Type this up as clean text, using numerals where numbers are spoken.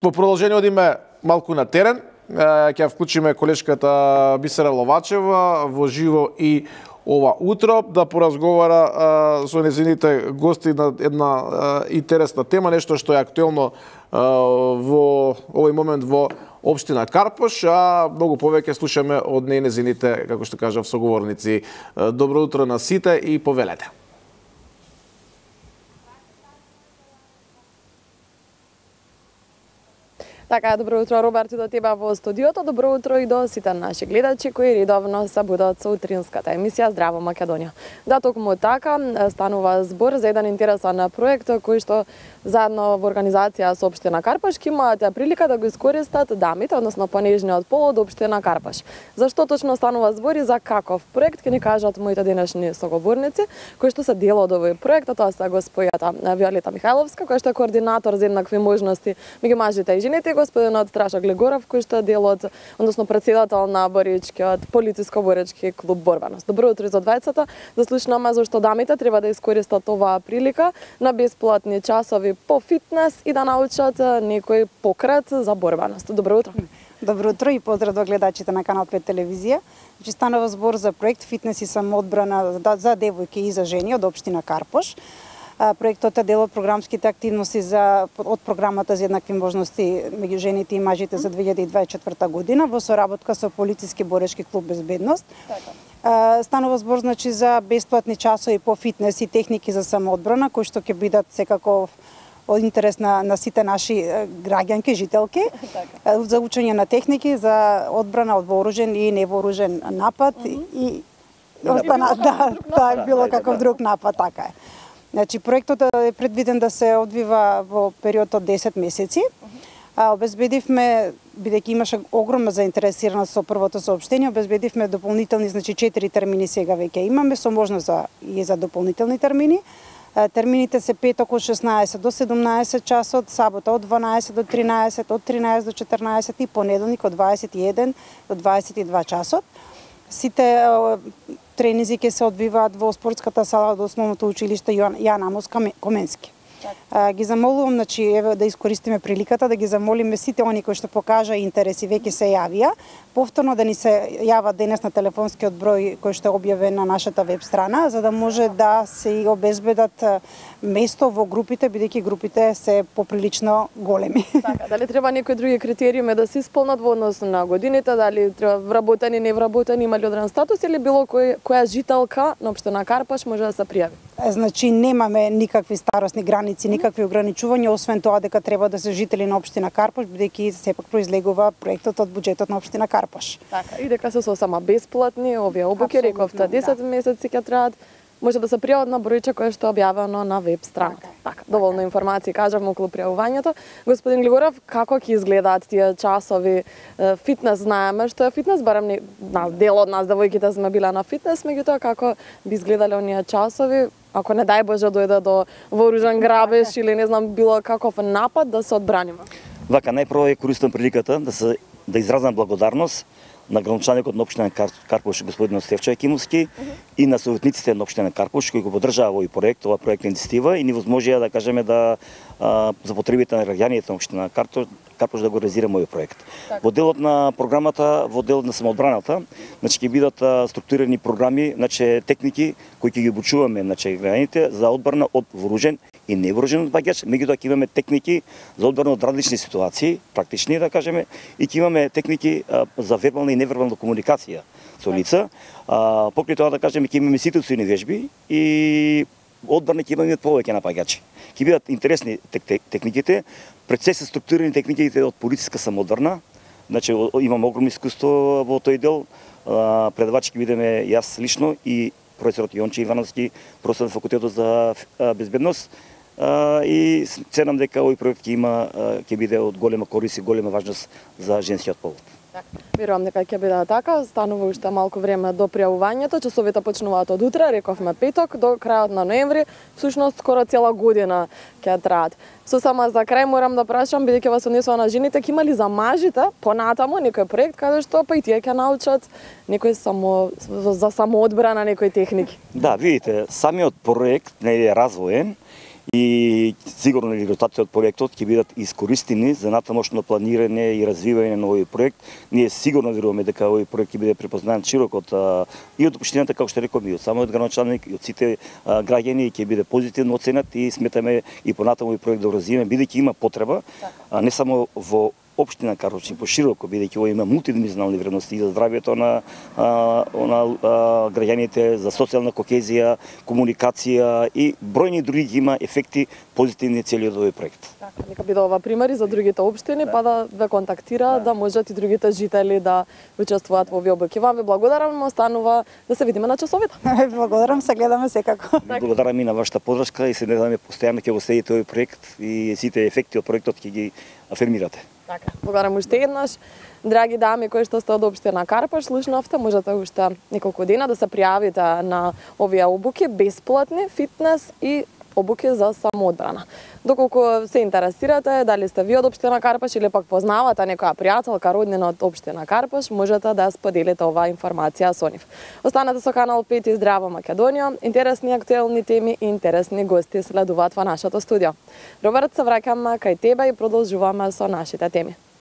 Во продолжение одиме малку на терен, ќе вклучиме колешката Бисера Ловачева во живо и ова утро да поразговара со незините гости на една интересна тема, нешто што е актуелно во овој момент во општина Карпош, а многу повеќе слушаме од незините, како што кажав, соговорници. Добро утро на сите и повелете. Така, добро утро, Роберт, и до тебе во студиото. Добро утро и до сите наши гледачи кои редовно се будат со утринската емисија Здраво Македонија. Да, токму така станува збор за еден интересен проект кој што заедно во организација со општина Карпош имаат прилика да го искористат дамите, односно понежниот пол од општина Карпош. Зашто точно станува збор и за каков проект ќе ни кажат моите денешни соговорници кои што се дел од овој проект, тоа се господјата Виолета Михајловска, која што е координатор за еднакви можности меѓу мажите и жените, господинот Страшо Глигоров, кој што е дел од, односно председател на Боричкиот полициско-боречки клуб Борбаност. Добро утро за двајцата. Да слушнаме зашто дамите треба да искористат оваа прилика на бесплатни часови по фитнес и да научат некој покрет за борбаност. Добро утро. Добро утро и поздрав до гледачите на Канал 5 телевизија. Станува збор за проект Фитнес и самоодбрана за девојки и за жени од општина Карпош. Проектот е дел од програмските активности од програмата за еднакви можности меѓу жените и мажите за 2024 година во соработка со Полициски борешки клуб Безбедност. Станува збор значи за бесплатни часови по фитнес и техники за самоодбрана кои што ќе бидат секако од интерес на сите наши граѓанки, жителки, за учење на техники за одбрана од вооружен и невооружен напад и било каков друг напад, така е. Значи, проектот е предвиден да се одвива во период од 10 месеци. Обезбедивме, бидејќи имаше огромна заинтересираност со првото соопштение, обезбедивме дополнителни, значи 4 термини сега веќе имаме, со можност за дополнителни термини. Термините се петок од 16 до 17 часот, сабота од 12 до 13, од 13 до 14 и понеделник од 21 до 22 часот. Сите тренинзи ќе се одвиваат во спортската сала од основното училиште Јан Амос Коменски. Ги замолувам, значи, еве да искористиме приликата да ги замолиме сите они кои што покажа интерес и веќе се јавија, повторно да ни се јават денес на телефонскиот број кој што е објавен на нашата веб страна, за да може да се обезбедат место во групите, бидејќи групите се поприлично големи. Така, дали треба некои други критериуми да се исполнат во однос на годините, дали треба вработени, невработени, има ли одреден статус или било која жителка на општина Карпош може да се пријави? Значи немаме никакви старосни граници, никакви ограничувања, освен тоа дека треба да се жители на општина Карпош, бидејќи сепак произлегува проектот од буџетот на општина Карпош. Така, и дека се сосема бесплатни, овие обуки, рековте 10 месеци ќе траат. Може да се пријават на бројче кое што е објавено на веб страната. Така, доволно информации кажавме околу пријавувањето. Господин Глигоров, како ќе изгледаат тие часови фитнес? Знаеме што е фитнес, барем дел од нас девојките сме биле на фитнес, меѓутоа како би изгледале оние часови? Ако не дај Боже дојде до вооружен грабеж или не знам било каков напад да се одбраниме. Вака, најпрво користам приликата да изразам благодарност на градоначалникот на општина Карпош господин Стефчо Екимовски и на советниците на општина Карпош кои го поддржаа овој проект, оваа проектна иницијатива и ни возможија да кажеме за потребите на граѓаните на општина Карпош да го реализираме овој проект. Во делот на програмата, во делот на самоодбраната, значи ќе бидат структурирани програми, значи техники кои ќе ги обучуваме значи граѓаните за одбрана од вооружен и невооружен багач, меѓутоа ќе имаме техники за одбрана од различни ситуации, практични да кажеме, и ќе имаме техники за вербална и невербална комуникација со лица. Покрај тоа да кажеме ќе имаме ситуациони вежби и одбрана ќе имаме повеќе напаѓачи. Ќе бидат интересни техниките, пред се се структурирани техниките од полициска самоодбрана. Значи имаме огромно искуство во тој дел. Предавачи ќе бидеме јас лично и професорот Јонче Ивановски, професор на факултетот за безбедност. И се надам дека овој проект ќе биде од голема корист и голема важност за женскиот пол. Верувам дека ќе биде така, станува уште малку време до пријавувањето, часовите почнуваат од утре, рековме петок, до крајот на ноември, всушност скоро цела година ќе траат. Сосема за крај морам да прашам, бидејќи вас однесува на жените, ќе има ли за мажите понатаму некој проект каде што па и тие ќе научат некој за самоодбрана, некои техники? Да, видите, самиот проект не е развоен и сигурно резултатите од проектот ќе бидат искористени за натамошно планирање и развивање на овој проект. Ние сигурно веруваме дека овој проект ќе биде препознаен широко и од општината, како што реков, и од самиот градоначалник, и од сите граѓани, ќе биде позитивно оценет и сметаме и понатаму овој проект да го развиваме, бидејќи има потреба, не само во општина Карловци пошироко, бидејќи ова има мултидимenzионални вредности и за здравјето на граѓаните, за социјална кохезија, комуникација и бројни други има ефекти позитивни цели од овој проект. Нека биде ова примери за другите општини, па да ве контактира, да можат и другите жители да учествуваат во овие обуки. Вам ви благодарам, останува да се видиме на часовите. Благодарам, се гледаме секако. Благодарам и на вашата подршка и се надеваме постојано ќе го следите овој проект и сите ефекти од проектот ќе ги афирмирате. Така, благодарам уште еднаш. Драги дами кои што сте од општина Карпаш, слушнавте, можете уште неколку дена да се пријавите на овие обуки, бесплатни, фитнес и обуки за самоодбрана. Доколку се интересирате, дали сте ви од општина Карпаш или пак познавате некоја пријателка, роднина од општина Карпаш, можете да споделите оваа информација со нив. Останете со канал 5 и Здраво Македонија. Интересни актуелни теми и интересни гости следуваат во нашето студио. Роберт, се враќам кај тебе и продолжуваме со нашите теми.